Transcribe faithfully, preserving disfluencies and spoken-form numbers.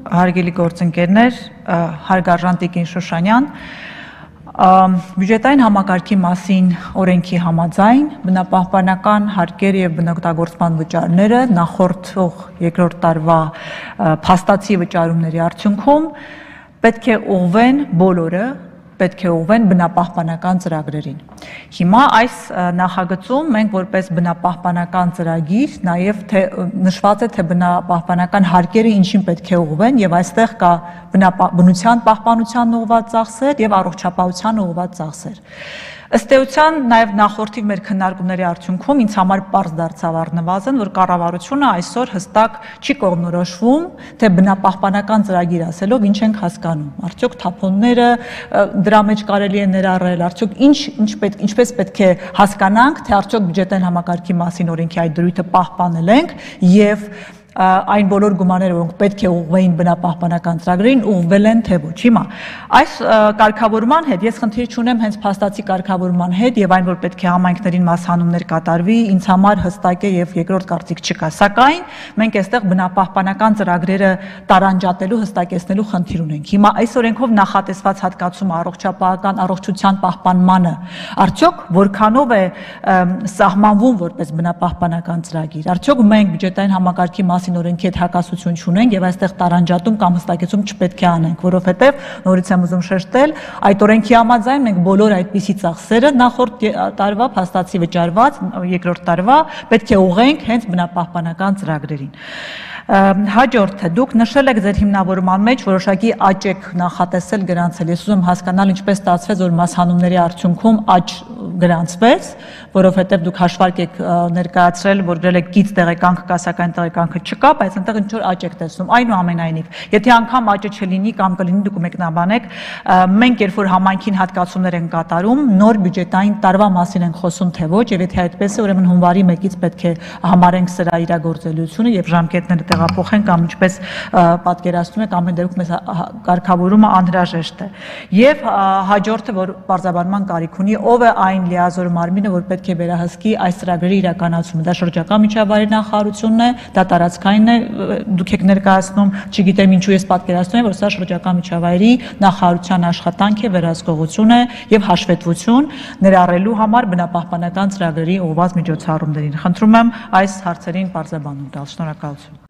հարգելի գործընկերներ, հարգարժան Տիկին Շուշանյան, բյուջետային համակարգի մասին օրենքի համաձայն բնապահպանական հարկերը և բնօգտագործման վճարները նախորդող երկրորդ տարվա փաստացի վճարումների արդյունքում պետք է ուղղվեն բոլորը պետք է ուղղվեն բնապահպանական ծրագրերին։ Հիմա այս նախագծում մենք որպես բնապահպանական ծրագիր նաև թե նշված է թե բնապահպանական հարկերը ինչին պետք է ուղղվեն եւ այստեղ կա բնության պահպանության ուղղված ծախսեր եւ առողջապահության ուղղված ծախսեր։ Ըստ էության նաև նախորդի մեր քննարկումների արդյունքում ինձ համար պարզ դարձավ առնվազն, որ կառավարությունը այսօր հստակ չի կողմնորոշվում, թե բնապահպանական ծրագիր ասելով ինչ ենք հասկանում։ Արդյոք թափոնները դրա մեջ կարելի է ներառել, արդյոք ինչ ինչ պետք ինչպես պետք է հասկանանք, թե արդյոք բյուջետային համակարգի մասին օրենքի այդ դրույթը պահպանել ենք եւ այն բոլոր գումարները, որոնք պետք է ուղղվեին բնապահպանական ծրագրերին, ուղղվել են թե ոչ։ Հիմա այս կարգավորման հետ ես խնդիր չունեմ հենց փաստացի կարգավորման հետ եւ այն, որ պետք է համայնքներին մասհանումներ կատարվի, ինձ համար հստակ է եւ երկրորդ կարծիք չկա։ Սակայն մենք այստեղ բնապահպանական ծրագրերը տարանջատելու, հստակեցնելու խնդիր ունենք։ Հիմա այս օրենքով նախատեսված հատկացումը առողջապահական առողջության պահպանմանը արդյոք որքանով է սահմանվում որպես բնապահպանական ծրագիր։ Արդյոք մենք բյուջետային համակարգի մասին օրենքի հետ հակասություն չունենք եւ այստեղ տարանջատում կամ հստակեցում չպետք է անենք, որովհետեւ նորից եմ ուզում շեշտել, այդ օրենքի համաձայն մենք բոլոր այդպիսի ծախսերը նախորդ տարվա փաստացի վճարված երկրորդ տարվա պետք է ուղղենք հենց բնապահպանական ծրագրերին։ Հաջորդը դուք նշել եք ձեր հիմնավորման մեջ որոշակի աճ եք նախատեսել գրանցել։ Ես ուզում հասկանալ ինչպես ստացվեց, որ մասհանումների արդյունքում աճ գրանցվեց, որովհետև դուք հաշվարկ եք ներկայացրել, որ գրել եք գիծ տեղեկանք կա, սակայն տեղեկանքը չկա, բայց այնտեղ ինչ որ աճ եք տեսնում։ Այնուամենայնիվ, եթե անգամ աճը չլինի կամ կլինի, դուք մեկնաբանեք, մենք երբ որ համայնքին հատկացումներ են կատարում, նոր բյուջետային տարվա մասին ենք խոսում թե ոչ, եւ եթե այդպես է, ուրեմն հունվարի մեկից պետք է համարենք սրա իրագործելիությունը եւ ժամկետները տեղափոխեն կամ ինչպես պատկերացնում եք, ամեն դեպքում մեզ կարգավորումը անհրաժեշտ է։ Եվ հաջորդը, որ բարձրաբանման կարիք ունի, ով է այն լիազոր մարմինը, որ պետք է վերահսկի այս ծրագրերի իրականացումը։ Դա շրջակա միջավայրի նախարարությունն է, դա տարածքային է, դուք եք ներկայացնում, չգիտեմ ինչու ես պատկերացնում եմ, որ սա շրջակա միջավայրի նախարարության աշխատանք է, վերահսկողություն է եւ հաշվետվություն ներառելու համար բնապահպանական ծրագրերի ուղղված միջոցառումներին։ Խնդրում եմ այս հարցերին բարձրաբանում տալ։ Շնորհակալություն։